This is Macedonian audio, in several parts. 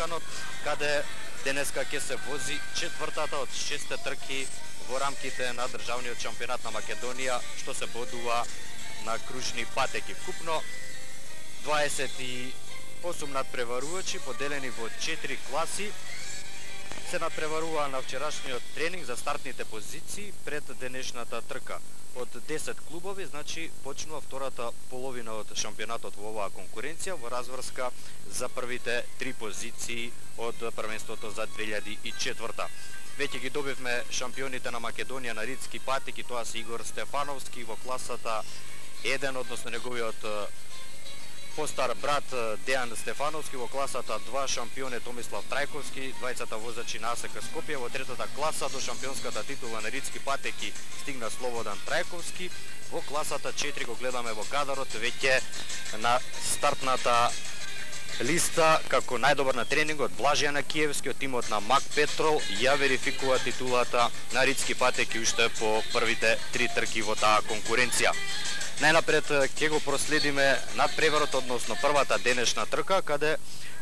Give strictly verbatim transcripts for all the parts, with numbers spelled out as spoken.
Балканот, каде денеска ќе се вози четвртата од шесте трки во рамките на државниот шампионат на Македонија, што се бодува на кружни патеки. Вкупно дваесет и осум надпреварувачи, поделени во четири класи, се надпреваруваа на вчерашниот тренинг за стартните позиции пред денешната трка. Од десет клубови, значи, почнува втората половина од шампионатот во оваа конкуренција во разврска за првите три позиции од првенството за две илјади и четврта. Веќе ги добивме шампионите на Македонија на ридски патеки, тоа се Игор Стефановски во класата еден, односно неговиот постар брат Дејан Стефановски, во класата два шампион е Томислав Трајковски, двајцата возачи на АСК Скопје. Во третата класа до шампионската титула на ридски патеки стигна Слободан Трајковски. Во класата четири го гледаме во кадарот веќе на стартната листа како најдобар на тренингот Блажија Накиевски од тимот на Мак Петрол ја верификува титулата на ридски патеки уште по првите три трки во таа конкуренција. Најнапред ќе го проследиме надпреварот, односно првата денешна трка, каде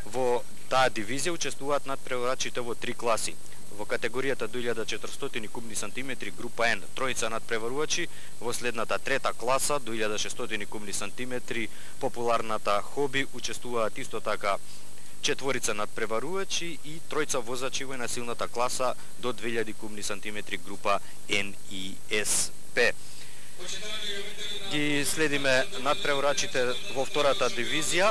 во таа дивизија учествуваат надпреварачите во три класи. Во категоријата до илјада и четиристотини кубни сантиметри група Н, тројца надпреварувачи, во следната трета класа до илјада и шестстотини кубни сантиметри популарната Хоби учествуваат исто така четворица надпреварувачи и тројца возачи во насилната класа до две илјади кубни сантиметри група Н и С П. Ги следиме надпреварачите во втората дивизија,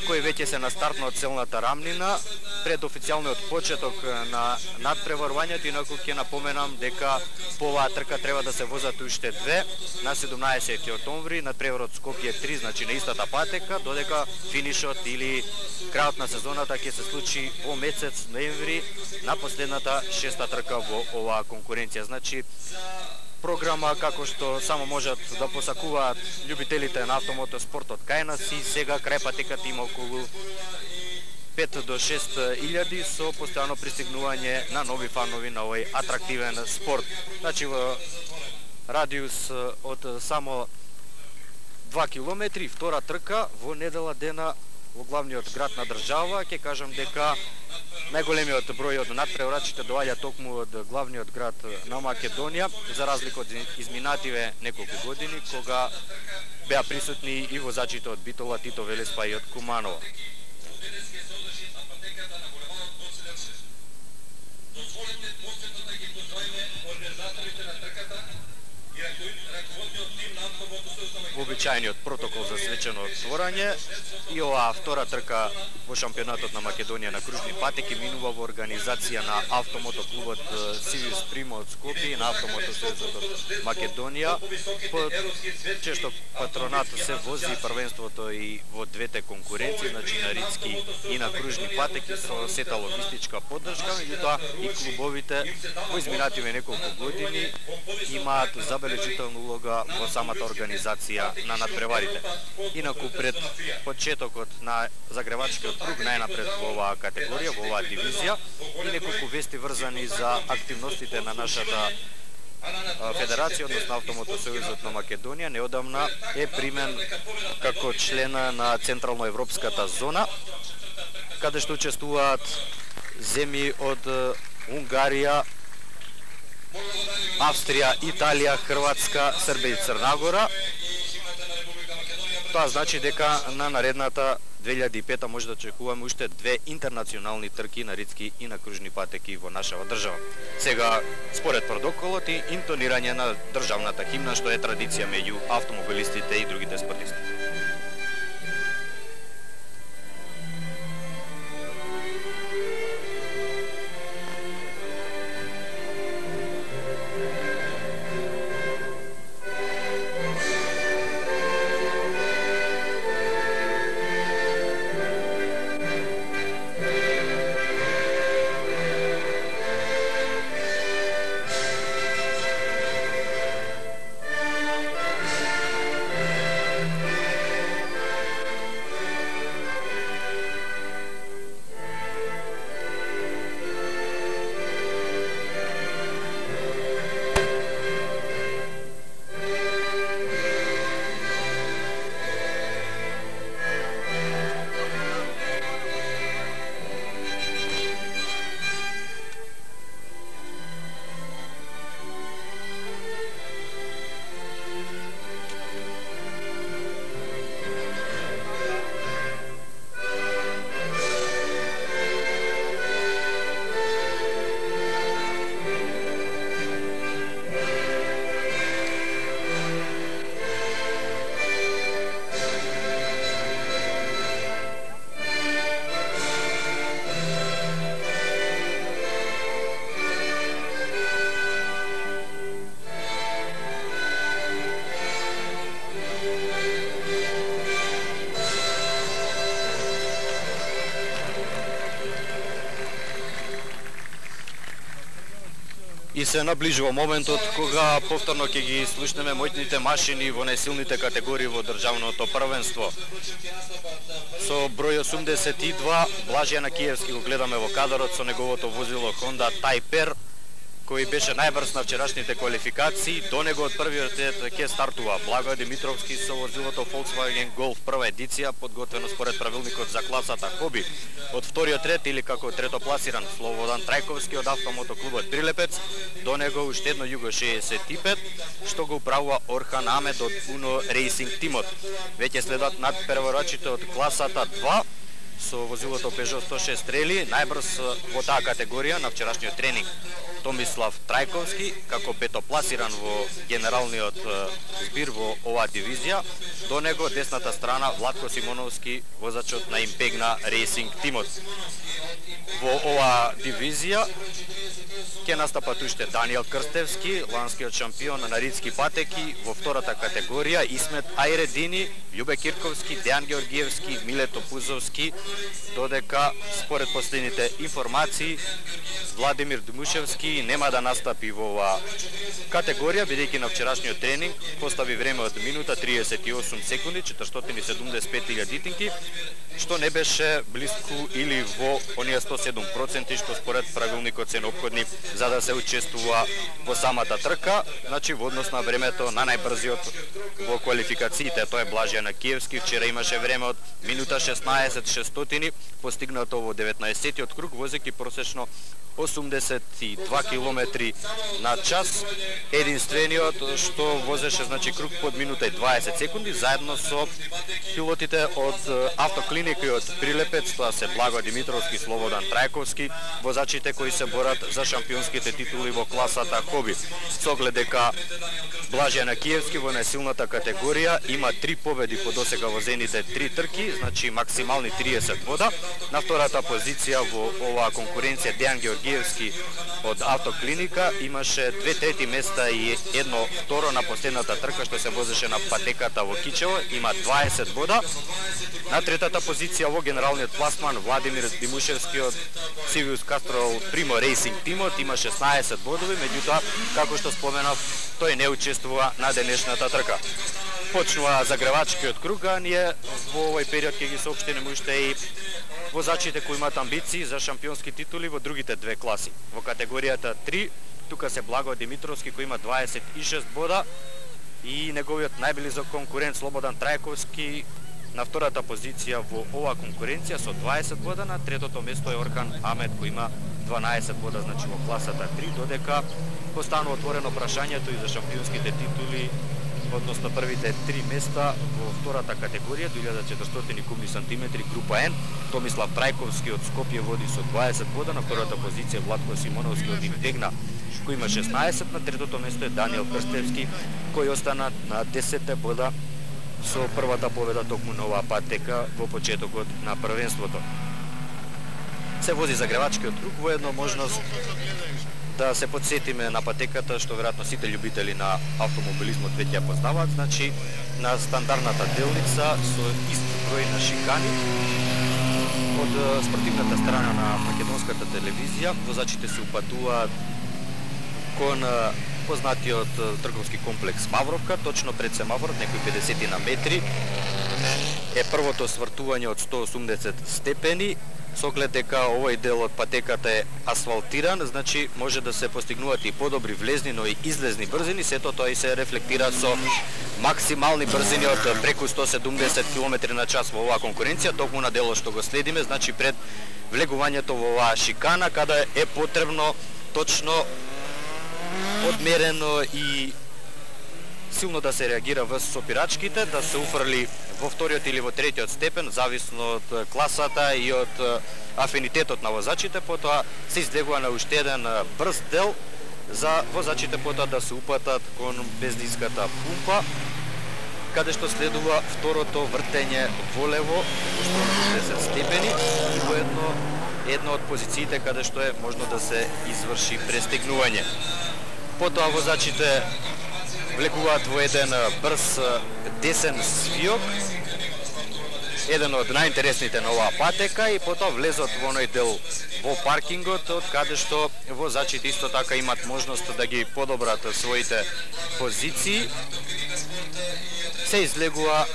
кои веќе се на стартно целната рамнина пред официјалниот почеток на надпреварувањето. Инаку ќе напоменам дека по оваа трка треба да се возат уште две на седумнаесети октомври, надпреварот Скопје три, значи на истата патека, додека финишот или крајот на сезоната ќе се случи во месец ноември на последната шеста трка во оваа конкуренција. Значи програма како што само можат да посакуваат љубителите на автомотоспортот кај нас, и сега крај патеката има околу пет до шест илјади со постојано пристигнување на нови фанови на овој атрактивен спорт. Значи во радиус од само два километри, втора трка во недела дена во главниот град на држава. Ќе кажам дека најголемиот број од надпреварачите доаѓа токму од главниот град на Македонија, за разлика од изминативе неколку години, кога беа присутни и возачите од Битола, Тито Велес, па и од Куманово. Вообичаениот протокол за свечено отворање и оваа втора трка во шампионатот на Македонија на кружни патеки минува во организација на автомотоклубот Сивиус Прима од Скопје и на Автомотосојузот од Македонија. Под често патронат се вози првенството и во двете конкуренции, значи на ридски и на кружни патеки, со сета логистичка поддршка, меѓутоа и клубовите во изминативе неколку години имаат забележителна улога во самата организација на надпреварите. Инаку пред почетокот на загревачкиот круг најнапред во оваа категорија, во оваа дивизија, и неколку вести врзани за активностите на нашата федерација, односно Автомотосојузот на Македонија. Неодамна е примен како член на Централно-европската зона, каде што учествуваат земји од Унгарија, Австрија, Италија, Хрватска, Србија и Црна Гора. Тоа значи дека на наредната две илјади и пета може да очекуваме уште две интернационални трки на ридски и на кружни патеки во нашава држава. Сега, според протоколот и интонирање на државната химна, што е традиција меѓу автомобилистите и другите спортисти. И се наближува моментот кога повторно ќе ги слушнеме моќните машини во најсилните категории во државното првенство. Со број осумдесет и два Блажје Накиевски го гледаме во кадарот со неговото возило Honda Type-R, кој беше најбрз на вчерашните квалификации. До него од првиот ред ќе стартува Благој Димитровски со возилото Volkswagen Golf прва едиција, подготвено според правилникот за класата Хоби. Од вториот ред, или како третопласиран, Слободан Трајковски од автомотоклубот Прилепец. До него уште едно Југо шеесет и пет, што го управува Орхан Амед од Uno Racing тимот. Веќе следат надпреварачите од класата два, со возилото Peugeot сто шест Rally, најбрз во таа категорија на вчерашниот тренинг Томислав Трајковски, како петопласиран во генералниот збир во оваа дивизија. До него десната страна Владко Симоновски, возачот на Импегна Racing тимот. Во оваа дивизија ќе настапат уште Даниел Крстевски, ланскиот шампион на ридски патеки, во втората категорија Исмет Ајредини, Љубе Кирковски, Дејан Георгиевски, Милето Пузовски, додека според последните информации Владимир Дмушевски нема да настапи во оваа категорија, бидејќи на вчерашниот тренинг постави време од минута триесет и осум секунди, четиристотини и седумдесет и пет илјадитинки, што не беше блиску или во оние сто и седум проценти што според правилникот се неопходни за да се учествува во самата трка, значи во однос на времето на најбрзиот во квалификациите, тоа е Блажје Накиевски. Вчера имаше време од минута шеснаесет шестстотини, постигнато во деветнаесеттиот круг, возејќи просечно осумдесет и два километри на час. Единствениот што возеше значи круг под минута и дваесет секунди, заедно со пилотите од автоклиника и од Прилепец, тоа се Благо Димитровски, Слободан Трајковски, возачите кои се борат за шампионските титули во класата Хоби. Со оглед дека Блажје Накиевски во најсилната категорија има три победи по досега возените три трки, значи максимални триесет бода. На втората позиција во оваа конкуренција Дејан Георгиевски од автоклиника имаше две трети места и едно второ на последната трка што се возеше на патеката во Кичево, има дваесет бода. На третата позиција во генералниот пласман Владимир Димушевски од Civius Castrol Primo Racing тимот има шеснаесет бодови, меѓутоа како што споменав, тој не учествува на денешната трка. Почнува загревачкиот круг, а ние во овој период ќе ги соопштиме уште и возачите кои имаат амбиции за шампионски титули во другите две класи. Во категоријата три, тука се Благо Димитровски кој има дваесет и шест бода и неговиот најблизок конкурент Слободан Трајковски на втората позиција во оваа конкуренција со дваесет бода. На третото место е Орхан Амед кој има дванаесет бода, значи во класата три, додека постанува отворено прашањето и за шампионските титули, односно првите три места во втората категорија, две илјади и четиристотини кубни сантиметри, група Н. Томислав Трајковски од Скопје води со дваесет бода, на втората позиција Владко Симоновски од Импегна кој има шеснаесет, на третото место е Даниел Крстевски кој остана на десет бода со првата победа токму на оваа патека во почетокот на првенството. Се вози загревачкиот круг, воедно можност да се подсетиме на патеката, што веројатно сите љубители на автомобилизмот веќе ја познаваат, значи на стандардната делница со ист број на шикани. Од спортивната страна на македонската телевизија, возачите се упатуваат кон познатиот трговски комплекс Мавровка, точно пред семафорот, некои педесет на метри, е првото свртување од сто и осумдесет степени. Со оглед дека овој дел од патеката е асфалтиран, значи може да се постигнуваат и подобри влезни, но и излезни брзини, сето тоа и се рефлектира со максимални брзини од преку сто и седумдесет километри на час во оваа конкуренција, токму на делот што го следиме, значи пред влегувањето во оваа шикана, каде е потребно точно одмерено и силно да се реагира во сопирачките, да се уфрли во вториот или во третиот степен, зависно од класата и од афинитетот на возачите. Потоа се излегува на уште еден брз дел за возачите потоа да се упатат кон бензинската пумпа, каде што следува второто вртење во лево во сто и осумдесет степени и воедно една од позициите каде што е можно да се изврши престегнување. Потоа возачите влегуваат во еден брз десен свиок, еден од најинтересните на оваа патека и потоа влезот во оној дел во паркингот, од каде што возачите исто така имат можност да ги подобрат своите позиции. Се излегува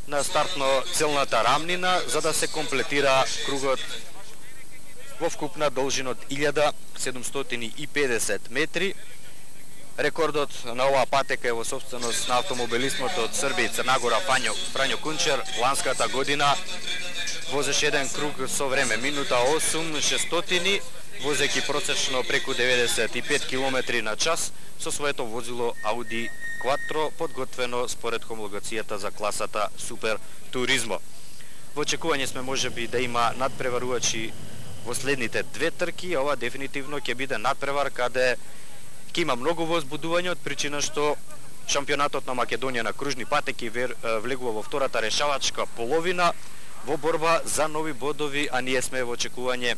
на стартно целната рамнина за да се комплетира кругот во вкупна должина од илјада седумстотини и педесет метри. Рекордот на оваа патека е во собственост на автомобилистот од Србија и Црна Гора Фањо, Фрањо Кунчер. Ланската година возеше еден круг со време минута осум шестстотини, возејќи просечно преку деветдесет и пет километри на час со своето возило Ауди Quattro, подготвено според хомологацијата за класата Супер Туризмо. Во очекување сме можеби да има надпреварувачи во следните две трки, ова дефинитивно ќе биде надпревар каде ќе има многу возбудување од причина што шампионатот на Македонија на кружни патеки влегува во втората решавачка половина во борба за нови бодови, а ние сме во очекување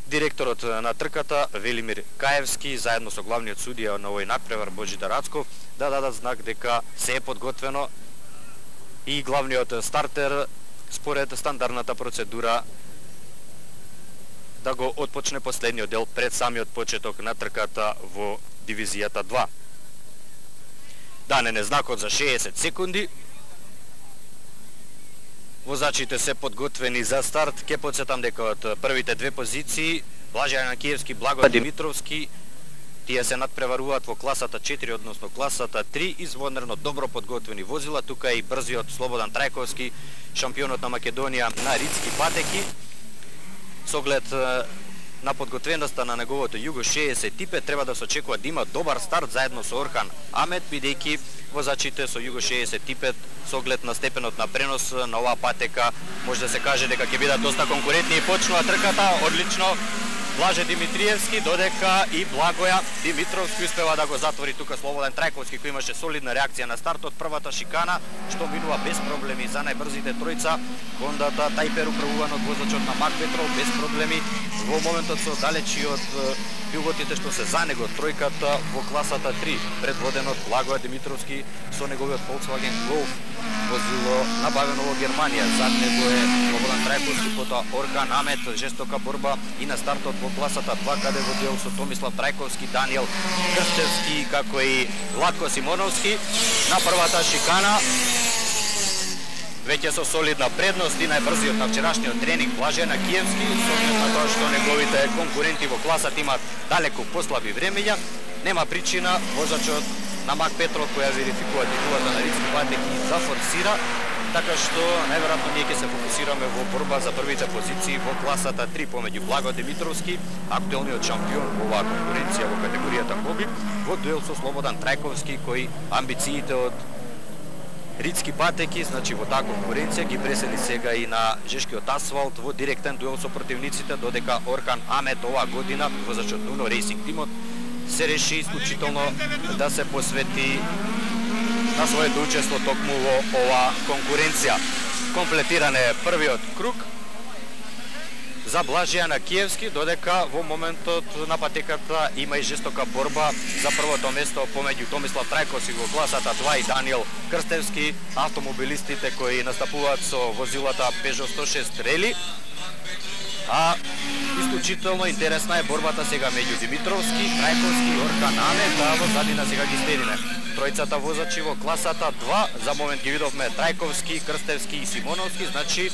директорот на трката Велимир Каевски заедно со главниот судија на овој надпревар Божидар Ацков да дадат знак дека се е подготвено и главниот стартер според стандардната процедура да го отпочне последниот дел пред самиот почеток на трката во дивизијата два. Даден е знакот за шеесет секунди. Возачите се подготвени за старт. Ке подсетам дека од првите две позиции Блаже Јанакиевски, Благо Димитровски, тие се надпреваруваат во класата четири, односно класата три, извонерно добро подготвени возила. Тука е и брзиот Слободан Трајковски, шампионот на Македонија на ридски патеки. Со оглед на подготвеноста на неговото Југо шеесет типе треба да се очекува да има добар старт заедно со Орхан Амет, бидејќи возачите со Југо шеесет типе со оглед на степенот на пренос на оваа патека може да се каже дека ќе бидат доста конкурентни и почнува трката одлично. Блаже Димитриевски, додека и Благоја Димитровски успева да го затвори тука Слободен Трајковски, кој имаше солидна реакција на стартот. Првата шикана што минува без проблеми за најбрзите тројца. Хондата Тајпер управуван од возачот на Мак Петров без проблеми. Во моментот се оддалечи од пилотите што се за него тројката во класата три, предводен од Благоја Димитровски со неговиот Volkswagen Golf, возило набавено во Германија. Зад него е Слободан Трајковски, потоа Орхан Амет, жестока борба и на стартот во класата два, каде во дел со Томислав Трајковски, Даниел Крстевски, како и Владко Симоновски. На првата шикана веќе со солидна предност и најбрзиот на вчерашниот тренинг Блаже Јанакиевски, со оглед на тоа што неговите конкуренти во класата имаат далеку послаби времења, нема причина возачот на Мак Петров, која верификува титулата на ридски патеки, да форсира, така што најверојатно ние ќе се фокусираме во борба за првите позиции во класата три помеѓу Благо Димитровски, актуелниот шампион во оваа конкуренција во категоријата хоби, во дуел со Слободан Трајковски, кој амбициите од ридски патеки, значи во таа конкуренција ги пресели сега и на жешкиот асфалт во директен дуел со противниците, додека Орхан Амет оваа година, возачот на Уно Рейсинг тимот, се реши исклучително да се посвети на своето учество токму во оваа конкуренција. Комплетиран е првиот круг за Блаже Јанакиевски, додека во моментот на патеката има и жестока борба за првото место помеѓу Томислав Трајковски во класата два и Даниел Крстевски, автомобилистите кои настапуваат со возилата Peugeot сто шест Рели. А исклучително интересна е борбата сега меѓу Димитровски, Трајковски и Орхан Амет, а во задина сега ги следиме тројцата возачи во класата два. За момент ги видовме Трајковски, Крстевски и Симоновски, значи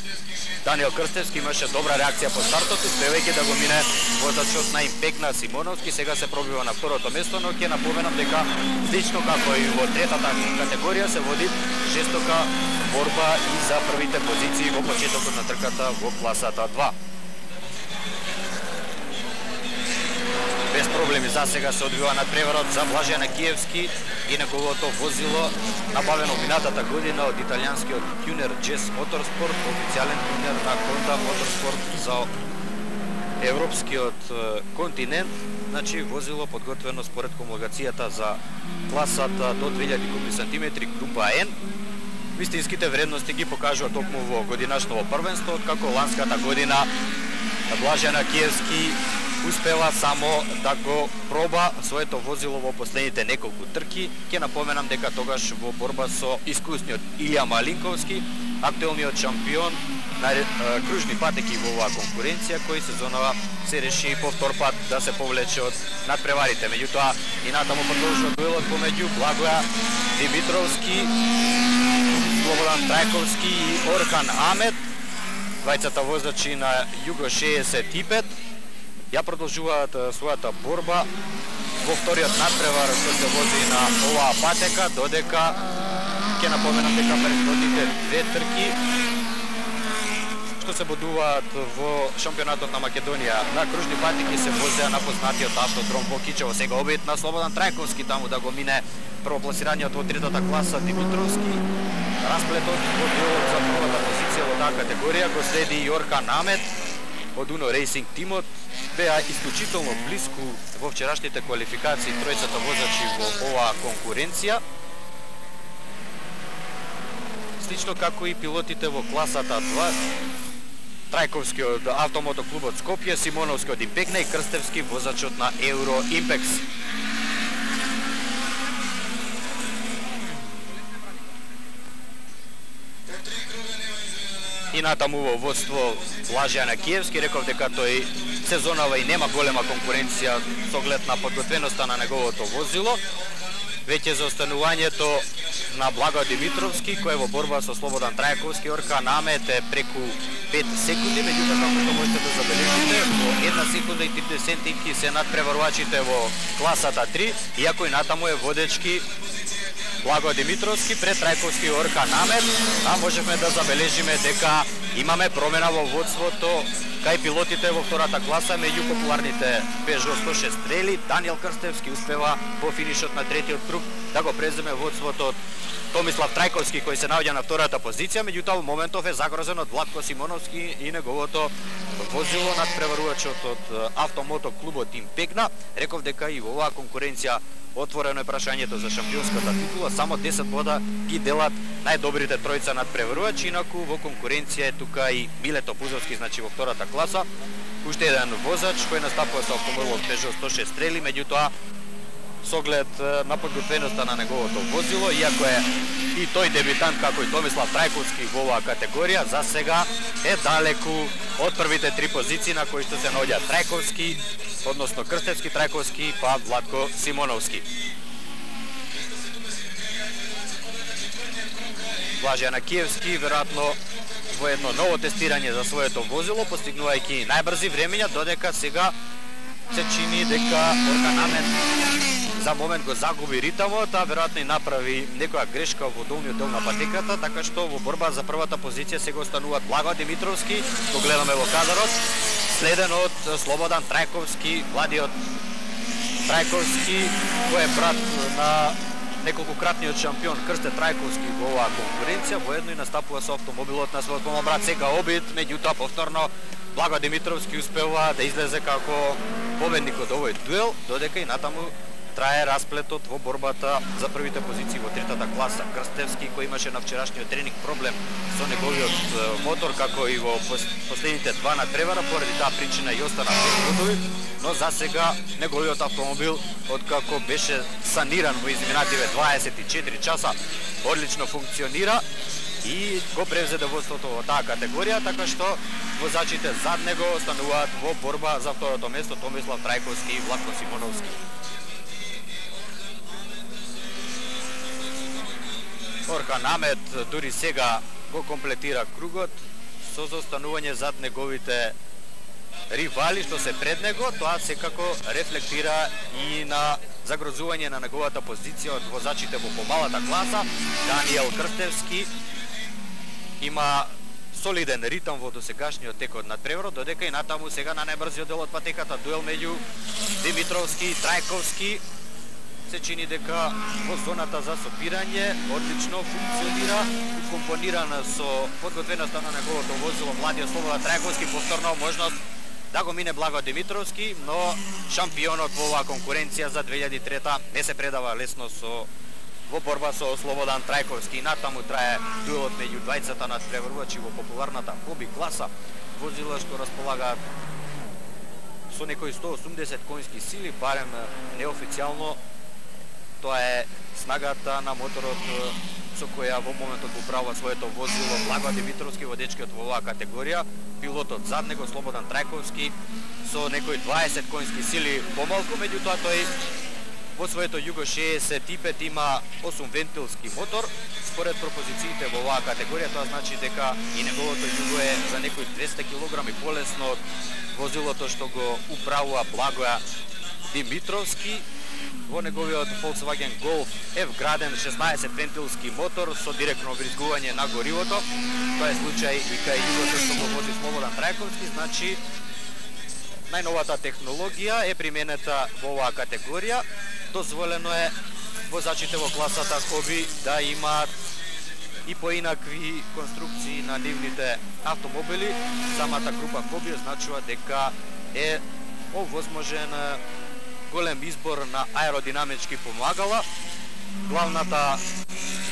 Даниел Крстевски имаше добра реакција по стартот, успевајќи да го мине возачот на Импекна Симоновски. Сега се пробива на второто место, но ќе напоменам дека слично како и во третата категорија се води жестока борба и за првите позиции во почетокот на трката во класата два. Без проблеми за сега се одвива надпреварот за Блаже Јанакиевски и неговото возило, набавено минатата година од италијанскиот тюнер Джес Моторспорт, официјален тюнер на Honda Motorsport за европскиот континент. Значи возило подготвено според хомологацијата за класата до две илјади кубни сантиметри група N. Вистинските вредности ги покажува токму во годинашното првенство, откако ланската година Блаже Јанакиевски успела само да го проба своето возило во последните неколку трки. Ќе напоменам дека тогаш во борба со искусниот Илија Малинковски актуелниот шампион на кружни патеки во оваа конкуренција, кој сезонава се реши по втор пат да се повлече од надпреварите. Меѓутоа и натаму продолжува дуелот помеѓу Благоја Димитровски, Слободан Трајковски и Орхан Амет, двајцата возачи на Југо шеесет и пет. Ја продолжуваат својата борба во вториот надпревар што се вози на оваа патека, додека ќе напоменам дека претходните две трки што се бодуваат во шампионатот на Македонија на кружни патеки се возеа на познатиот автодром во Кичево. Сега обид на Слободан Трајковски таму да го мине првопласираниот во третата класа Димитровски. Расплетот во делот за првата позиција во таа категорија го следи и Орхан Амет од Uno Racing тимот. Беа исклучително блиску во вчерашните квалификации тројцата возачи во оваа конкуренција. Слично како и пилотите во класата два, Трајковски од Автомото клубот Скопје, Симоновски од Импекна и Крстевски возачот на Евро Импекс. И натаму во водство Блаже Јанакиевски, реков дека тој сезонава и нема голема конкуренција со оглед на подготвеноста на неговото возило. Веќе за останувањето на Благој Димитровски, кој е во борба со Слободан Трајковски, Орхан Амет е преку пет секунди, меѓутоа како што можете да забележите, во една секунда и тридесет сентимки се надпреварувачите во класата три, иако и натаму е водечки Благој Димитровски пред Трајковски и Орхан Амет, а можевме да забележиме дека имаме промена во водството кај пилотите во втората класа меѓу популарните Peugeot сто шест стрели. Даниел Крстевски успева по финишот на третиот круг да го преземе водството од Томислав Трајковски, кој се наоѓа на втората позиција, меѓутоа во моментов е загрозен од Владко Симоновски и неговото возило над преварувачот од Автомото клубот Импекна. Реков дека и во оваа конкуренција отворено е прашањето за шампионската титула, само десет бода ги делат најдобрите тројца над преварувачи, инаку во конкуренција е тука и Милето Пузовски, значи во втората класа, уште еден возач кој настапува со автомобилот Peugeot сто шест стрели, меѓутоа со оглед на подготвеноста на неговото возило, иако е и тој дебитант како и Томислав Трајковски во оваа категорија, за сега е далеку од првите три позиции на кои што се наоѓа Трајковски, односно Крстевски, Трајковски, па Владко Симоновски. Блаже Јанакиевски веројатно во едно ново тестирање за своето возило, постигнувајќи најбрзи времења, додека сега се чини дека Орхан Амет за момент го загуби ритамот, а веројатно и направи некоја грешка во долниот дел на патеката, така што во борба за првата позиција сега остануваат Благој Димитровски, го гледаме во кадарот, следен од Слободан Трајковски, младиот Трајковски, кој е брат на неколкократниот шампион Крсте Трајковски во оваа конкуренција, воедно и настапува со автомобилот на својот помал брат. Сега обид, меѓутоа повторно Благој Димитровски успева да излезе како победник од овој дуел, додека и натаму трае расплетот во борбата за првите позиции во третата класа. Крстевски, кој имаше на вчерашниот тренинг проблем со неговиот мотор, како и во последните два надпревара, поради таа причина и остана без годови, но за сега неговиот автомобил, откако беше саниран во изминативе дваесет и четири часа, одлично функционира и го превзеде водството во таа категорија, така што возачите зад него остануваат во борба за второто место Томислав Трајковски и Владко Симоновски. Орхан Амет дури сега го комплетира кругот со заостанување зад неговите ривали што се пред него. Тоа секако рефлектира и на загрозување на неговата позиција од возачите во помалата класа. Даниел Крстевски има солиден ритам во досегашниот тек од надпреварот, додека и натаму сега на најбрзиот дел од патеката дуел меѓу Димитровски и Трајковски. Се чини дека во зоната за сопирање одлично функционира, компонирана со подготвеноста на неговото возило младиот Слободан Трајковски, повторно можност да го мине Благој Димитровски, но шампионот во оваа конкуренција за две илјади и трета не се предава лесно со во борба со Слободан Трајковски. Натаму трае дуелот меѓу двајцата надпреварувачи во популарната хоби класа, возила што располагаат со некои сто осумдесет конски сили, барем неофицијално. Тоа е снагата на моторот со која во моментот го управува своето возило Благо Димитровски, водечкиот во оваа категорија. Пилотот зад него Слободан Трајковски со некои дваесет конски сили помалку, меѓутоа тој во своето Југо шеесет и пет има осум вентилски мотор. Според пропозициите во оваа категорија, тоа значи дека и неговото Југо е за некои двесте килограми полесно од возилото што го управува Благоја Димитровски. Во неговиот Volkswagen Golf е вграден шеснаесет вентилски мотор со директно вризгување на горивото. Тоа е случај и кај Југото што го вози Слободан Трајковски, значи најновата технологија е применета во оваа категорија. Дозволено е возачите во класата Хоби да имаат и поинакви конструкции на нивните автомобили. Самата група Хоби означува дека е овозможен голем избор на аеродинамички помагала. Главната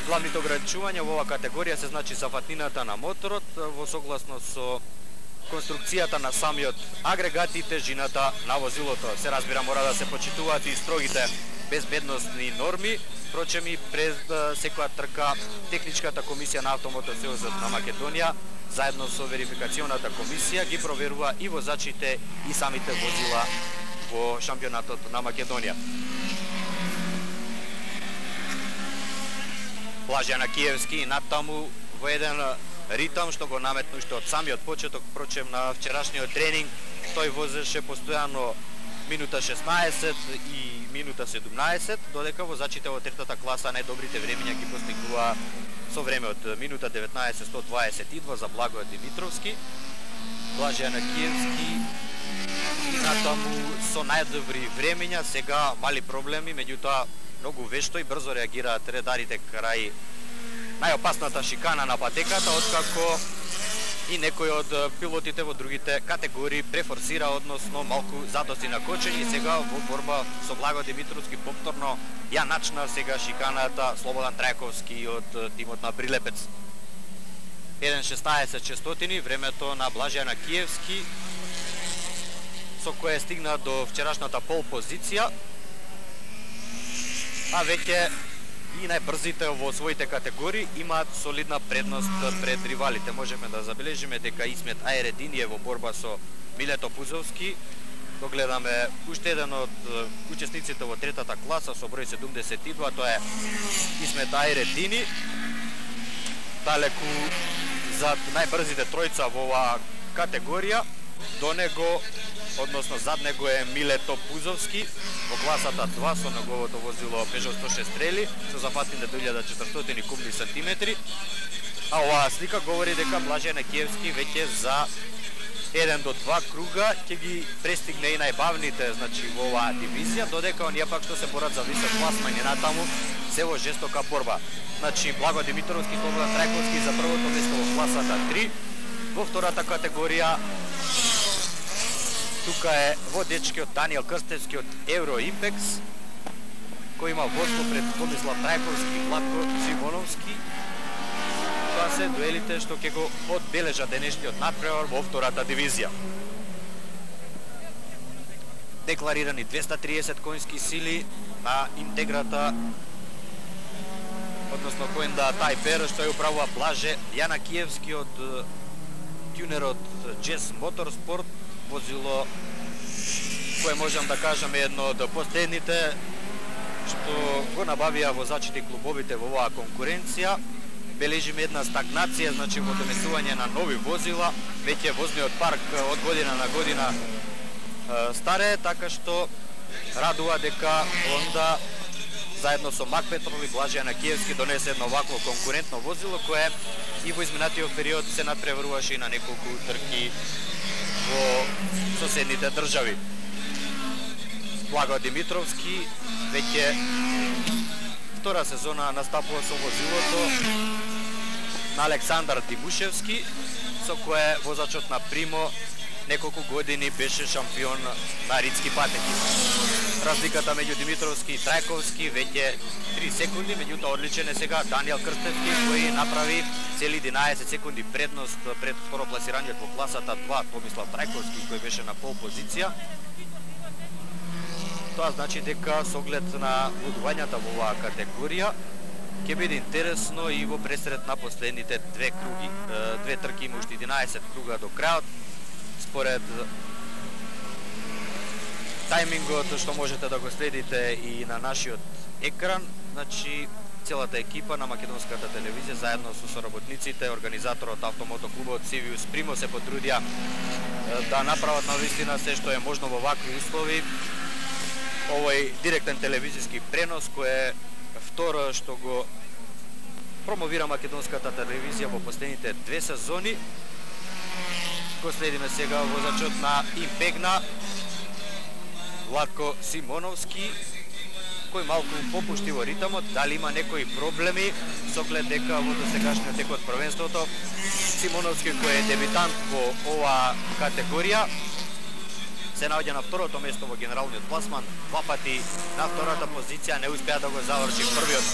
главните ограничувања во оваа категорија се значи зафатнината на моторот во согласно со конструкцијата на самиот агрегат и тежината на возилото. Се разбира, мора да се почитуваат и строгите безбедносни норми. Впрочем, и пред секоја трка Техничката комисија на Автомотосејузот на Македонија заедно со верификационата комисија ги проверува и возачите и самите возила во шампионатот на Македонија. Блаже Јанакиевски натаму во еден ритам што го наметну уште од самиот почеток, впрочем на вчерашниот тренинг тој возеше постојано минута шеснаесет и минута седумнаесет, додека возачите во третата класа најдобрите времења ги постигнува со време од минута деветнаесет сто дваесет и два за Благој Димитровски. Блаже Јанакиевски и натаму со најдобри времења, сега мали проблеми, меѓутоа многу вешто и брзо реагираат редарите крај најопасната шикана на патеката, откако и некој од пилотите во другите категории префорсира, односно малку задоси на кочење и сега во борба со Благо Димитровски повторно ја начна сега шиканата Слободан Трајковски од тимот на Прилепец. еден шеснаесет шестотини времето на Блаже Јанакиевски, со кое стигна до вчерашната пол позиција, а веќе и најбрзите во своите категории имаат солидна предност пред ривалите. Можеме да забележиме дека Исмет Ајредин е во борба со Милето Пузовски. Догледаме уште еден од учесниците во третата класа со број седумдесет и два, тоа е Исмет Ајредини. Далеку зад најбрзите тројца во оваа категорија, до него, односно зад него е Милето Пузовски во класата два со неговото возило Peugeot сто шест Rally со зафатните до илјада четиристотини кубни сантиметри. А оваа слика говори дека Блаже Јанакиевски веќе за еден до два круга ќе ги престигне и најбавните, значи во оваа дивизија, додека оние пак што се борат за висок пласман и натаму се во жестока борба. Значи Благо Димитровски, Слободан Трајковски за првото место во класата три. Во втората категорија тука е водечкиот Даниел Крстевски од Евро Импекс, кој има водство пред Томислав Трајковски и Владко Симоновски. Тоа се дуелите што ќе го одбележат денешниот натпревар во втората дивизија. Декларирани двеста триесет конски сили на интеграта, односно Коенда Тајпер, што ја управува Блаже Јанакиевски од тюнерот Jazz Motorsport, возило кое можам да кажам е едно од последните што го набавија возачите и клубовите во оваа конкуренција. Бележиме една стагнација, значи во донесување на нови возила, веќе возниот парк од година на година е, старе, така што радува дека онда заедно со Мак Петрол и Блаже Јанакиевски донесе едно вакво конкурентно возило кое и во изминатиот период се надпреваруваше и на неколку трки во соседните држави. Благо Димитровски веќе втора сезона настапува со возилото на Александар Димушевски, со кое возачот на Примо неколку години беше шампион на ридски патеки. Разликата меѓу Димитровски и Трајковски веќе три секунди, меѓутоа одличен е сега Даниел Крстевски кој направи цели единаесет секунди предност пред второпласираниот во класата два Томислав Трајковски кој беше на пол позиција. Тоа значи дека со оглед на водувањата во оваа категорија Ќе биде интересно и во пресред на последните две круги. Две трки има уште единаесет круга до крајот. Според тајмингот што можете да го следите и на нашиот екран, значи целата екипа на македонската телевизија заедно со соработниците, организаторот Автомото клубот Сивиус Примо се потрудија да направат навистина се што е можно во вакви услови. Овој директен телевизиски пренос кој е второ што го промовира македонската телевизија во последните две сезони. Го следиме сега возачот на Импегна, Владко Симоновски, кој малку попушти во ритамот. Дали има некои проблеми со оглед дека во досегашниот тек од првенството Симоновски, кој е дебитант во оваа категорија, се наоѓа на второто место во генералниот класман. Два пати на втората позиција не успеа да го заврши првиот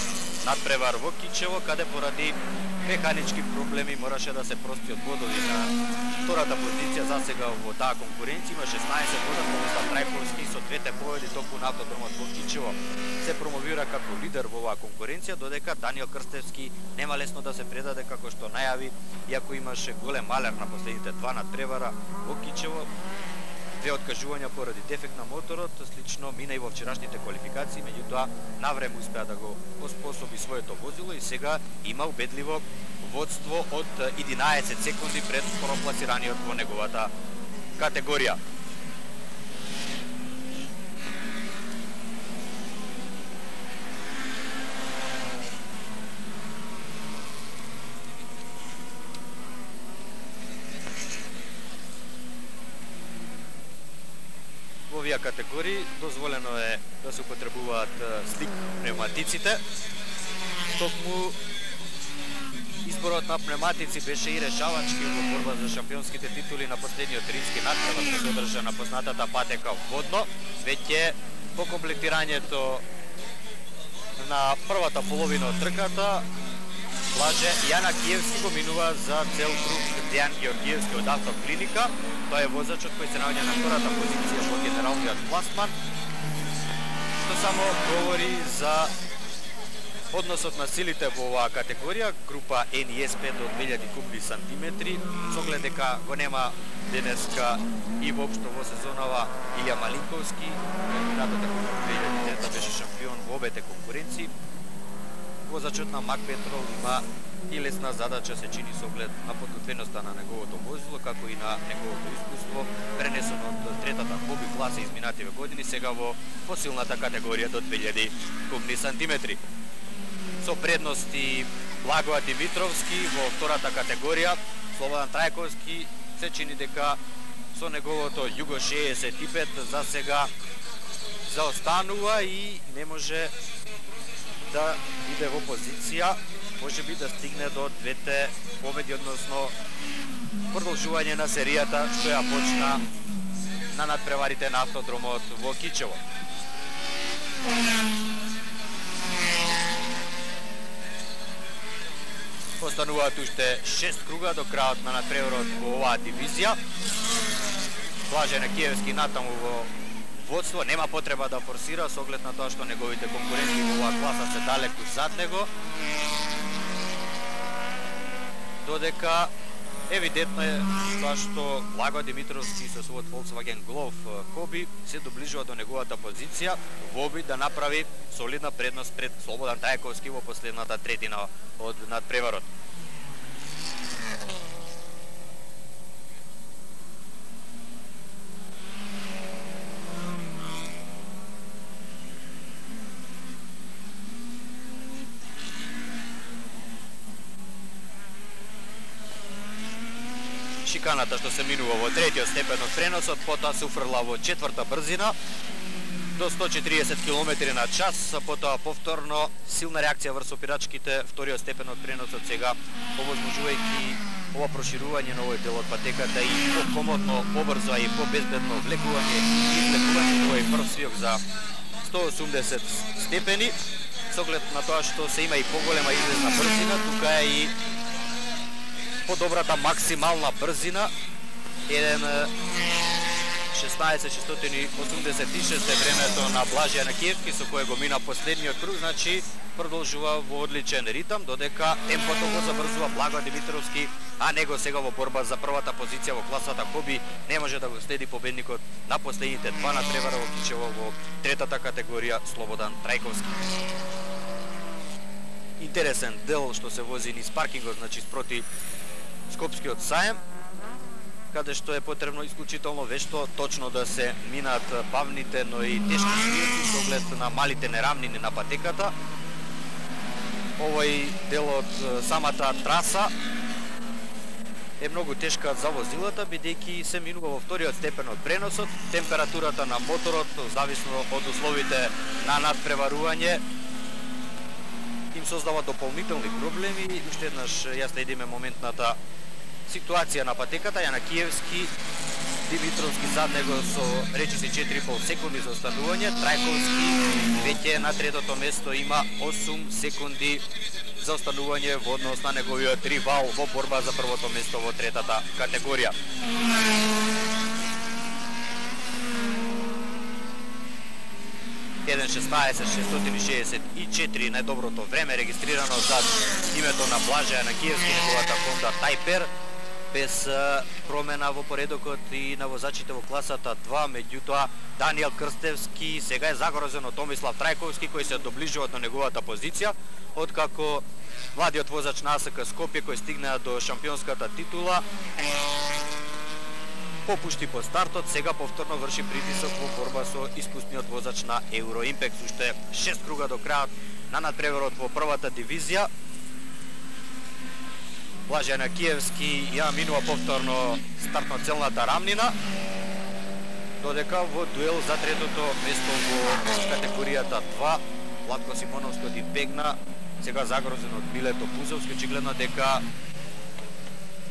надпревар во Кичево, каде поради механички проблеми мораше да се прости од бодови на втората позиција. За сега во таа конкуренција има шеснаесет бода, Томислав Трајковски со двете победи токму на автодромот во Кичево се промовира како лидер во оваа конкуренција, додека Даниел Крстевски нема лесно да се предаде, како што најави, иако имаше голем малер на последните два надпревара во Кичево. Две откажувања поради дефект на моторот, слично мина и во вчерашните квалификации, меѓутоа навреме успеа да го оспособи своето возило и сега има убедливо водство од единаесет секунди пред второпласираниот во неговата категорија. Во овие категории дозволено е да се употребуваат слик пневматиците. Токму изборот на пневматици беше и решавачки во борба за шампионските титули на последниот римски надпревар што се одржа на познатата патека водно. Веќе по комплектирањето на првата половина од трката Блаже Јана Киевски го минува за цел круг Дејан Георгиевски од Автоклиника. Тој е возачот кој се наоѓа на втората позиција во генералниот класман, што само говори за односот на силите во оваа категорија. Група Ен И Ес пет до две илјади кубни сантиметри, со оглед дека го нема денеска и воопшто во сезонава Илја Малинковски, минатата година две илјади трета беше шампион во обете конкуренции. Возачот на Мак Петрол има и лесна задача, се чини со оглед на подготвеноста на неговото возило, како и на неговото искуство, пренесено од третата хоби класа изминативе години, сега во посилната категорија до две илјади кубни сантиметри. Со предности Благоа Димитровски во втората категорија, Слободан Трајковски се чини дека со неговото Југо шеесет и пет за сега заостанува и не може да биде во позиција, може би да стигне до двете победи, односно продолжување на серијата што ја почна на надпреварите на автодромот во Кичево. Остануваат уште шест круга до крајот на надпреварот во оваа дивизија. Блаже Киевски натаму во водство, нема потреба да форсира со оглед на тоа што неговите конкуренти во оваа класа се далеку зад него. Додека евидентно е тоа што Благо Димитровски со својот Volkswagen Golf Коби се доближува до неговата позиција во обид да направи солидна предност пред Слободан Трајковски во последната третина од надпреварот. Шиканата што се минува во третиот степен од преносот, потоа се уфрла во четврта брзина до сто четириесет километри на час, потоа повторно силна реакција врз опирачките, вториот степен од преносот сега овозможувајќи ова проширување на овој дел од патеката и по-комодно, побрзо и по-безбедно влегување и извлекување на овој прв свиок за сто осумдесет степени, со оглед на тоа што се има и поголема излезна брзина, тука е и подобрата максимална брзина, еден шеснаесет шестстотини осумдесет и шест е времето на Блаже Јанакиевски со кое го мина последниот круг, значи продолжува во одличен ритам, додека темпото го забрзува Благо Димитровски, а него сега во борба за првата позиција во класата Хоби не може да го следи победникот на последните два надпревара во Кичево во третата категорија Слободан Трајковски. Интересен дел што се вози низ паркингот, значи спроти Скопскиот саем, каде што е потребно исклучително вешто точно да се минат бавните, но и тешки свијаци со оглед на малите нерамнини на патеката. Овој дел од самата траса е многу тешка за возилата, бидејќи се минува во вториот степен од преносот. Температурата на моторот, зависно од условите на надпреварување, им создава дополнителни проблеми. Уште еднаш ја следиме моментната ситуација на патеката. Јанакиевски, Димитровски зад него со речиси четири и пол секунди за останување. Трајковски веќе на третото место има осум секунди за останување во однос на неговиот ривал во борба за првото место во третата категорија. еден шеснаесет шестстотини шеесет и четири најдоброто време регистрирано зад името на Блаже Јанакиевски, неговата Honda Typer, без промена во поредокот и на возачите во класата два, меѓутоа Даниел Крстевски сега е загрозен од Томислав Трајковски, кој се доближува до неговата позиција, откако младиот возач на АСК Скопје, кој стигна до шампионската титула, попушти по стартот, сега повторно врши притисок во борба со искусниот возач на Евроимпекс. Уште шест круга до крајот на надпреварот во првата дивизија. Блаже Јанакиевски ја минува повторно стартно-целната рамнина, додека во дуел за третото место во категоријата два Владко Симоновски од избегна, сега загрозен од Милето Пузовски, очигледно дека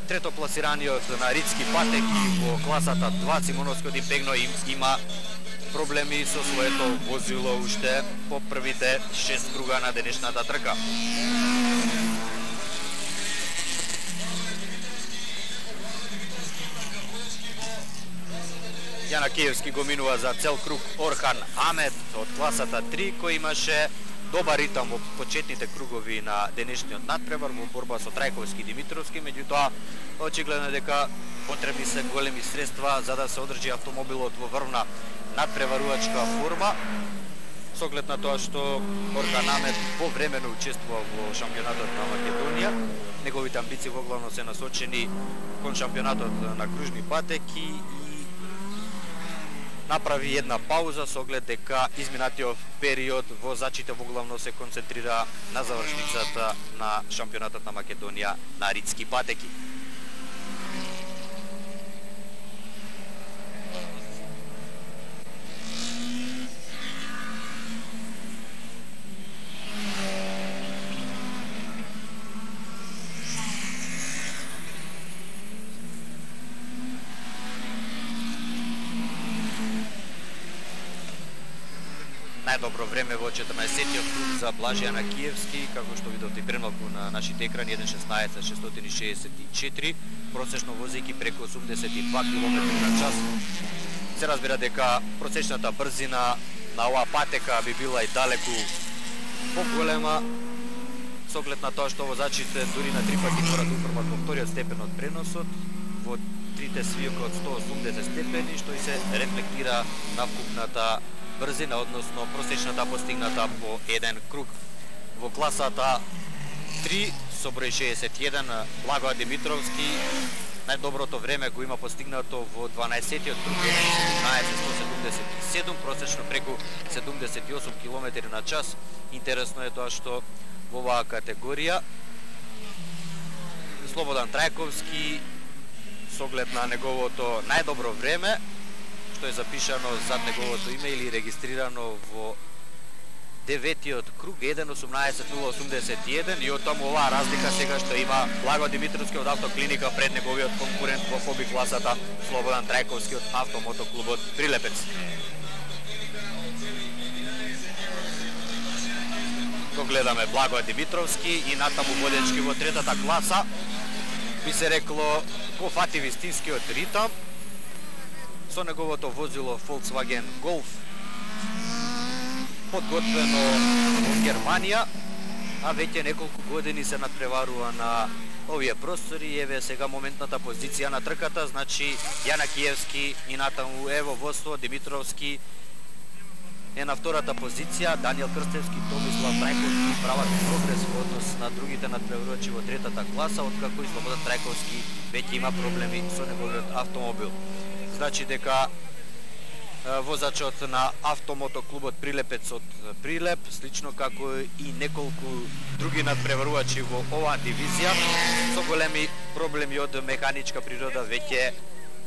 третопласираниот на Рицки патеки во класата два Симоновски од избегно има проблеми со своето возило уште по првите шест круга на денешната трка. Јанакиевски го минува за цел круг Орхан Амет од класата три, кој имаше добар ритам во почетните кругови на денешниот надпревар во борба со Трајковски и Димитровски, меѓутоа очигледно дека потребни се големи средства за да се одржи автомобилот во врвна надпреварувачка форма, со оглед на тоа што Орхан Амет повремено учествува во шампионатот на Македонија. Неговите амбиции во главно се насочени кон шампионатот на кружни патеки и направи една пауза со оглед дека изминатиот период возачите во главно се концентрира на завршницата на шампионатот на Македонија на Рицки патеки. Најдобро време во четрнаесеттиот круг за Блаже Јанакиевски, како што видовте премалку на нашите екрани, еден шеснаесет шестстотини шеесет и четири, просечно возејќи преку осумдесет и два километри на час. Се разбира дека просечната брзина на оваа патека би била и далеку поголема, со оглед на тоа што возачите дури на три пати мора да уфрмат во вториот степен од преносот, во трите свиока од сто осумдесет степени, што и се рефлектира на вкупната брзина, односно просечната постигната по еден круг. Во класата три со број шеесет и еден Благо Димитровски најдоброто време го има постигнато во дванаесеттиот круг, седумнаесет сто седумдесет и седум, просечно преку седумдесет и осум километри на час. Интересно е тоа што во оваа категорија Слободан Трајковски, со оглед на неговото најдобро време, што е запишано зад неговото име или регистрирано во деветиот круг, еден осумнаесет нула осумдесет и еден, и од таму оваа разлика сега што има Благо Димитровски од Автоклиника пред неговиот конкурент во хоби класата Слободан Трајковски од Автомотоклубот Прилепец. Го гледаме Благо Димитровски и натаму водечки во третата класа, би се рекло, го фати вистинскиот ритам. со неговото возило Volkswagen Golf, подготвено во Германија, а веќе неколку години се надпреварува на овие простори. Еве сега моментната позиција на трката, значи Јана Киевски и натаму ево водство, Димитровски е на втората позиција, Даниел Крстевски, Томислав Трајковски прават прогрес во однос на другите надпреварувачи во третата класа, откако и Слободан Трајковски веќе има проблеми со неговиот автомобил. Значи дека возачот на автомотоклубот Прилепец од Прилеп, слично како и неколку други надпреварувачи во оваа дивизија, со големи проблеми од механичка природа, веќе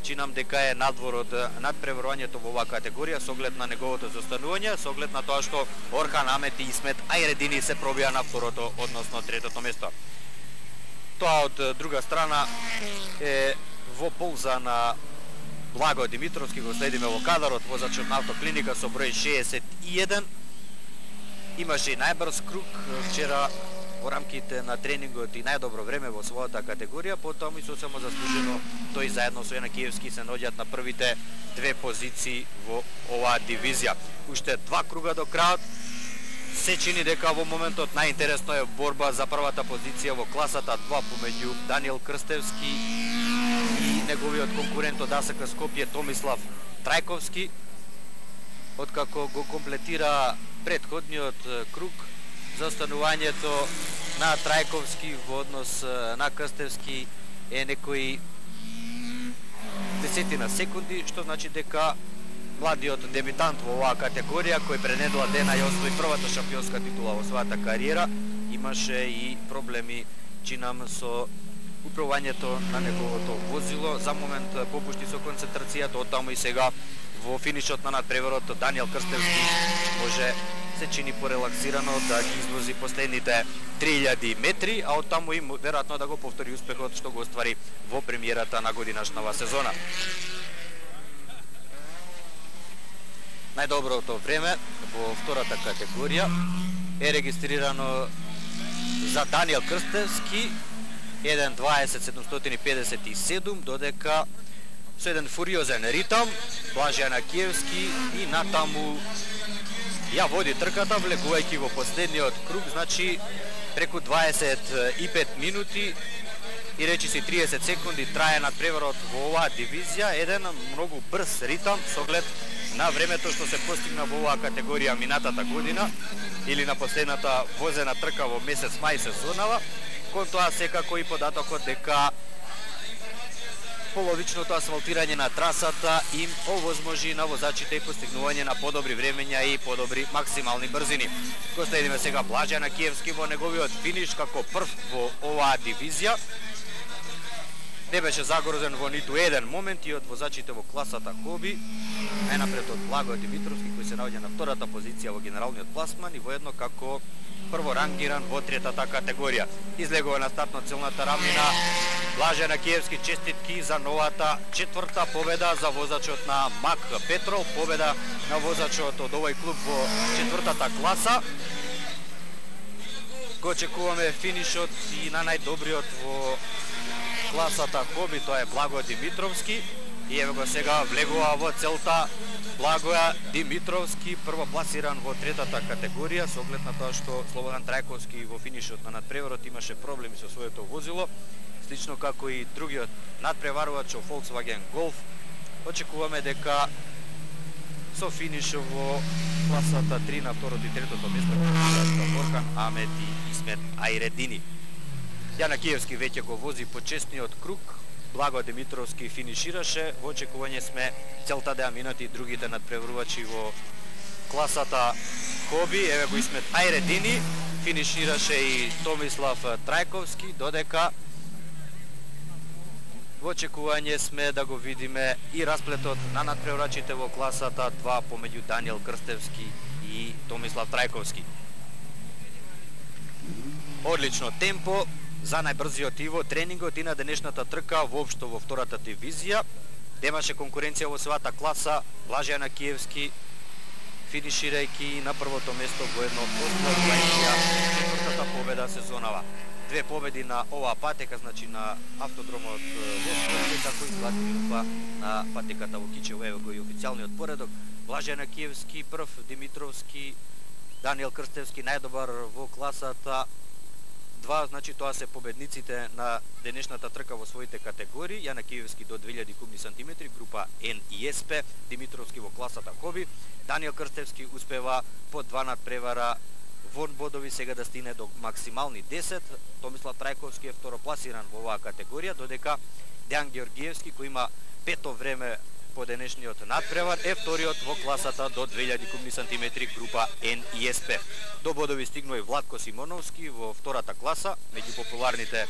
чинам дека е надвор од надпреварувањето во оваа категорија, со оглед на неговото застанување, со оглед на тоа што Орхан Амет и Исмет Ајредини се пробија на второто, односно третото место. Тоа од друга страна е во полза на Благо Димитровски, го следиме во кадарот, возачот на автоклиника со број шеесет и еден. Имаше и најбрз круг вчера во рамките на тренингот и најдобро време во својата категорија, потоа и сосема заслужено тој заедно со Јана Киевски се наоѓаат на првите две позиции во оваа дивизија. Уште два круга до крајот. Се чини дека во моментот најинтересно е борба за првата позиција во класата два помеѓу Даниел Крстевски и неговиот конкурент од АСК Скопје Томислав Трајковски, откако го комплетира претходниот круг. Застанувањето на Трајковски во однос на Крстевски е некои десетина секунди, што значи дека младиот дебитант во оваа категорија, кој пред недела дена ја освои првата шампионска титула во својата кариера, имаше и проблеми, чинам, со управувањето на неговото возило. За момент попушти со концентрацијата, оттаму и сега во финишот на надпреварот Даниел Крстевски може, се чини порелаксирано, да ги извози последните три илјади метри, а оттаму и веројатно да го повтори успехот што го оствари во премиерата на годинашнава сезона. Најдоброто време во втората категорија е регистрирано за Даниел Крстевски еден дваесет седумстотини педесет и седум, додека со еден фуриозен ритам Блаже Јанакиевски и натаму ја води трката, влегувајќи во последниот круг, значи преку дваесет и пет минути и речиси триесет секунди трае надпреварот во оваа дивизија, еден многу брз ритам со оглед на времето што се постигна во оваа категорија минатата година или на последната возена трка во месец мај сезонава. Кон тоа секако и податокот дека половичното асфалтирање на трасата им овозможи на возачите и постигнување на подобри времења и подобри максимални брзини. Го следиме сега Блаже Јанакиевски во неговиот финиш како прв во оваа дивизија. Не беше загрозен во ниту еден момент и од возачите во класата Коби, најнапред од Благо Димитровски, кој се наоѓа на втората позиција во генералниот пласман и воедно како прворангиран во третата категорија. Излегува на стартно-целната рамнина Блаже Јанакиевски, честитки за новата четврта победа за возачот на МАК Петрол, победа на возачот од овој клуб во четвртата класа. Го очекуваме финишот и на најдобриот во класата Коби, тоа е Благо Димитровски. И еве го сега влегува во целта Благоја Димитровски, првопласиран во третата категорија, со оглед на тоа што Слободан Трајковски во финишот на надпреварот имаше проблеми со своето возило, слично како и другиот надпреварувач во Volkswagen Golf. Очекуваме дека со финиш во класата три на второто и третото место ќе Орхан Амет и Исмет Ајредини. Јанакиевски веќе го вози почесниот круг, Благо Димитровски финишираше, во очекување сме целта да ја минат и другите надпреварувачи во класата Коби. Еве го Исмет Ајредини, финишираше и Томислав Трајковски, додека во очекување сме да го видиме и расплетот на надпреварувачите во класата два помеѓу Даниел Крстевски и Томислав Трајковски. Одлично темпо за најбрзиот и во тренингот и на денешната трка воопшто во втората дивизија. Немаше конкуренција во својата класа. Блаже Јанакиевски финиширајќи на првото место воедно остварувајќи четвртата победа сезонава. две победи на оваа патека, значи на автодромот во Скопје, како и златни минута на патеката во Кичево. Ево го и официјалниот поредок. Блаже Јанакиевски прв, Димитровски, Даниел Крстевски најдобар во класата два, значи тоа се победниците на денешната трка во своите категории. Јанакиевски до две илјади кубни сантиметри, група Н и С П, Димитровски во класата Хоби, Даниел Крстевски успева по два надпревара во бодови сега да стигне до максимални десет. Томислав Трајковски е второпласиран во оваа категорија, додека Дејан Георгиевски, кој има пето време по денешниот надпревар, е вториот во класата до две илјади кубни сантиметри, група Н и С П. До бодови стигнува и Владко Симоновски во втората класа, меѓу популарните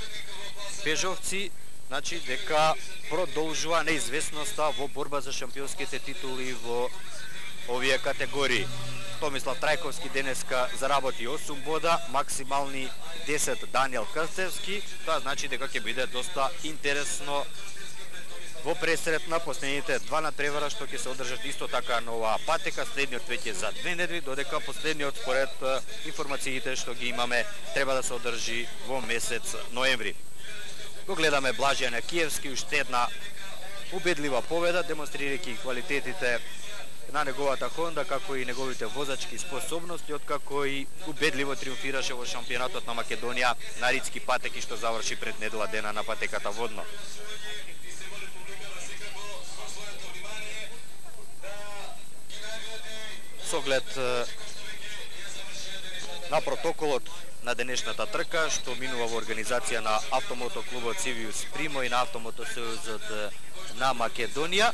пежовци, значи дека продолжува неизвестноста во борба за шампионските титули во овие категории. Томислав Трајковски денеска заработи осум бода, максимални десет Даниел Крстевски. Тоа значи дека ќе биде доста интересно во пресрет на последните два надпревара што ќе се одржат исто така на оваа патека. Следниот веќе за две недели, додека последниот според информациите што ги имаме треба да се одржи во месец ноември. Го гледаме Блаже Јанакиевски, уште една убедлива победа, демонстрирајќи квалитетите на неговата Хонда, како и неговите возачки способности, откако и убедливо триумфираше во шампионатот на Македонија на ридски патеки, што заврши пред недела дена на патеката водно. С оглед на протоколот на денешната трка, што минува во организација на Автомото клубот Сивиус Примо и на Автомото сојузот на Македонија,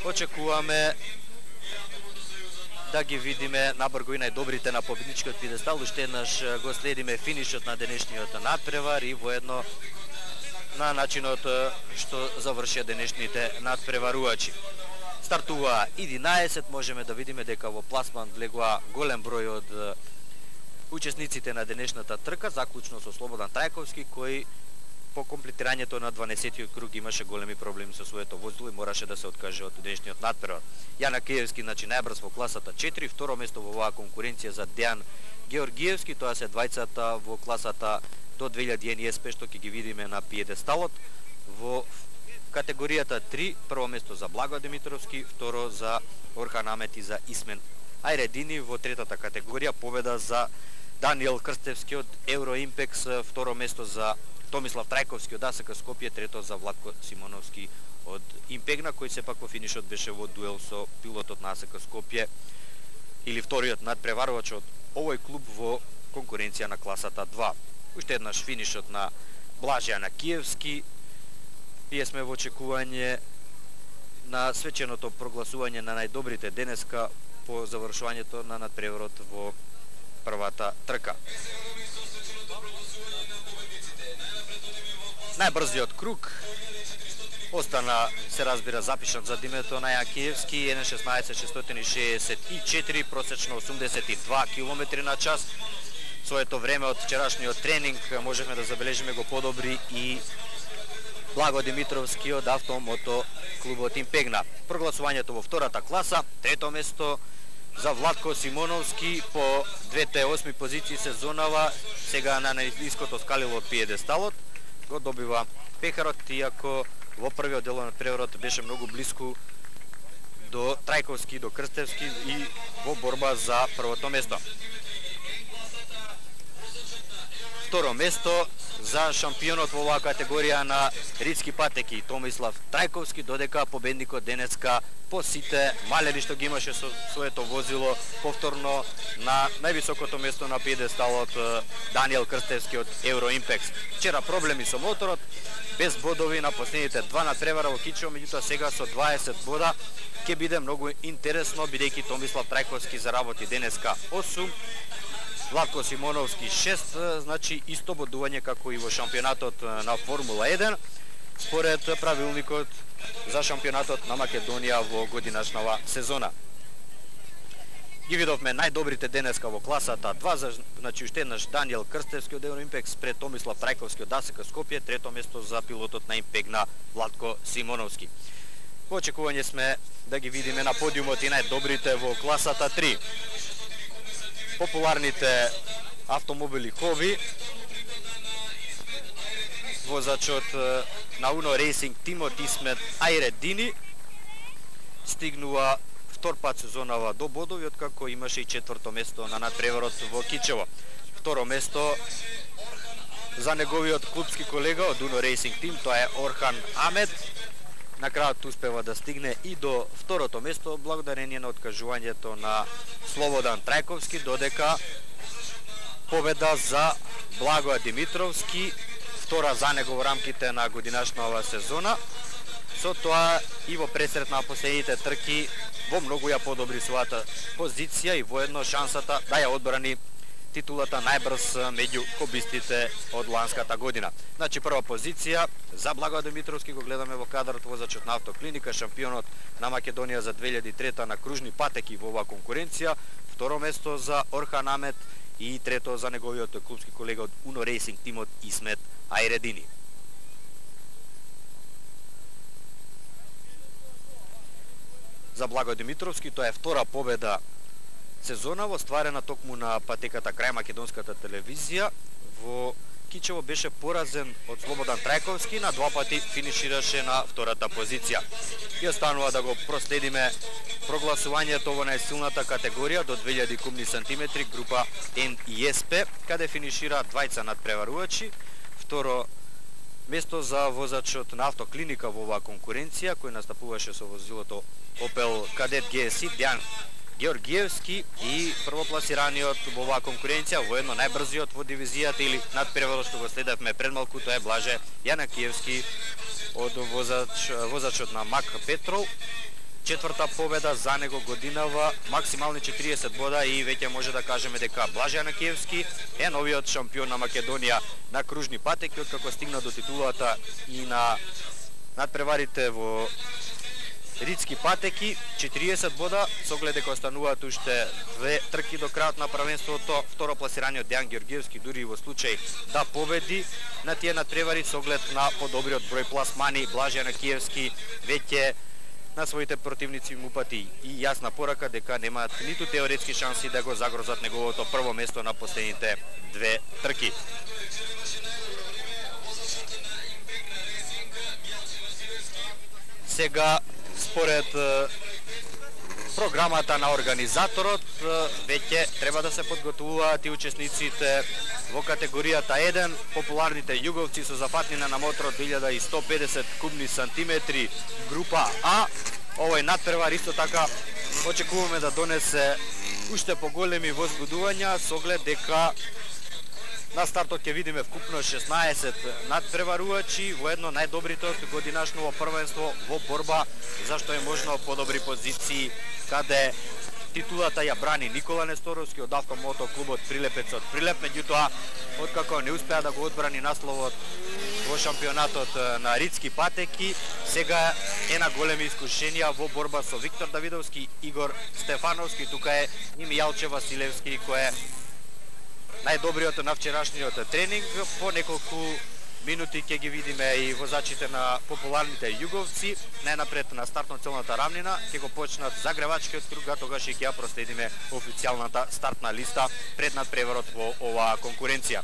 очекуваме да ги видиме набрго и најдобрите на победничкиот пиедестал. Уште еднаш го следиме финишот на денешниот надпревар и воедно на начинот што завршија денешните надпреварувачи. Стартува единаесет, можеме да видиме дека во пласман влегува голем број од учесниците на денешната трка, заклучно со Слободан Трајковски, кој по комплетирањето на дванаесеттиот круг имаше големи проблеми со своето возило и мораше да се откаже од денешниот надпревар. Јанакиевски, значи најбрз во класата четири, второ место во оваа конкуренција за Дејан Георгиевски, тоа се двајцата во класата до две илјади Н И С П што ќе ги видиме на пиедесталот. Во категоријата три, прво место за Благо Димитровски, второ за Орхан Амет и за Исмен Ајредини. Во третата категорија победа за Даниел Крстевски од Евроимпекс, второ место за Томислав Трајковски од А С К Скопје, трето за Владко Симоновски од Импегна, кој сепак во финишот беше во дуел со пилотот на А С К Скопје или вториот надпреварувач од овој клуб во конкуренција на класата два. Уште еднаш финишот на Блаже Јанакиевски. Ние сме во очекување на свеченото прогласување на најдобрите денеска по завршувањето на надпреварот во првата трка. Најбрзиот круг остана, се разбира, запишан за името на Јанакиевски, еден шеснаесет шестстотини шеесет и четири, просечно осумдесет и два километри на час. Своето време од вчерашниот тренинг можехме да забележиме го подобри и Благо Димитровски од Автомото клубот Импегна. Прогласувањето во втората класа, трето место за Владко Симоновски по двете осми позиции сезонава, сега на најниското скалило од пиедесталот, го добива пехарот, иако во првиот дел на надпреварот беше многу блиску до Трајковски, до Крстевски и во борба за првото место. Второ место за шампионот во оваа категорија на ридски патеки Томислав Трајковски, додека победникот денеска по сите малери што ги имаше со своето возило повторно на највисокото место на пиедесталот Даниел Крстевски од Евроимпекс. Вчера проблеми со моторот, без бодови на последните два надпревара во Кичево, меѓутоа сега со дваесет бода ќе биде многу интересно, бидејќи Томислав Трајковски заработи денеска осум, Владко Симоновски шест, значи исто бодување како и во шампионатот на Формула еден, според правилникот за шампионатот на Македонија во годинашнава сезона. Ги видовме најдобрите денеска во класата два, значи уште еднаш Даниел Крстевски од Евроимпекс пред Томислав Трајковски од А С К Скопје, трето место за пилотот на Импегна Владко Симоновски. Во очекување сме да ги видиме на подиумот и најдобрите во класата три. Популарните автомобили Хоби, возачот на Uno Racing тимот Исмет Айредини стигнува втор пат сезонава до бодови, откако имаше и четврто место на надпреварот во Кичево. Второ место за неговиот клубски колега од Uno Racing тим, тоа е Орхан Амед. На крајот успева да стигне и до второто место благодарение на откажувањето на Слободан Трајковски, додека победа за Благоја Димитровски, втора за него во рамките на годинашната сезона. Со тоа и во пресрет на последните трки во многу ја подобри својата позиција и воедно шансата да ја одбрани титулата најбрз меѓу хобистите од ланската година. Значи прва позиција за Благоја Димитровски го гледаме во кадрот, возачот на Автоклиника, шампионот на Македонија за две илјади и трета на кружни патеки во оваа конкуренција. Второ место за Орхан Амет и трето за неговиот клубски колега од Uno Racing тимот Исмет Айредини. За Благој Димитровски тоа е втора победа сезона во стварена токму на патеката крај македонската телевизија. Во Кичево беше поразен од Слободан Трајковски, на два пати финишираше на втората позиција. И останува да го проследиме прогласувањето во најсилната категорија до две илјади кубни сантиметри, група Н и С П, каде финишира двајца надпреварувачи. Второ место за возачот на Автоклиника во оваа конкуренција, кој настапуваше со возилото Opel Kadett Г С И, Дејан Георгиевски, и првопласираниот во оваа конкуренција, воедно најбрзиот во дивизијата или надпреварот што го следевме пред малку, тоа е Блаже Јанакиевски од возач, возачот на Мак Петрол. Четврта победа за него годинава, максимални четириесет бода, и веќе може да кажеме дека Блаже Јанакиевски е новиот шампион на Македонија на кружни патеки, откако стигна до титулата и на надпреварите во ридски патеки. четириесет бода, со оглед дека остануваат уште две трки до крајот на првенството. Второ пласираниот Дејан Георгиевски, дури и во случај да победи на тие надпревари со оглед на подобриот број пласмани, Блаже Јанакиевски веќе на своите противници му пати и јасна порака дека немаат ниту теоретски шанси да го загрозат неговото прво место на последните две трки. Сега, според програмата на организаторот, веќе треба да се подготвуваат и учесниците во категоријата еден, популарните југовци со зафатнина на мотор две илјади и сто педесет кубни сантиметри, група А. Овој надпревар исто така очекуваме да донесе уште поголеми возбудувања, со оглед дека на стартот ќе видиме вкупно шеснаесет надпреварувачи, воедно најдобрите од годинашното првенство во борба за што е можно подобри позиции, каде титулата ја брани Никола Несторовски од Автомото клубот Прилепец од Прилеп, меѓутоа откако не успеа да го одбрани насловот во шампионатот на ридски патеки, сега е на големи искушенија во борба со Виктор Давидовски, Игор Стефановски, тука е и Мијалче Василевски, кој е најдобриот на вчерашниот тренинг. По неколку минути ќе ги видиме и возачите на популарните југовци. Најнапред на стартно-целната рамнина ќе го почнат загревачкиот круг, а тогаш ќе ја проследиме официјалната стартна листа пред надпреварот во оваа конкуренција.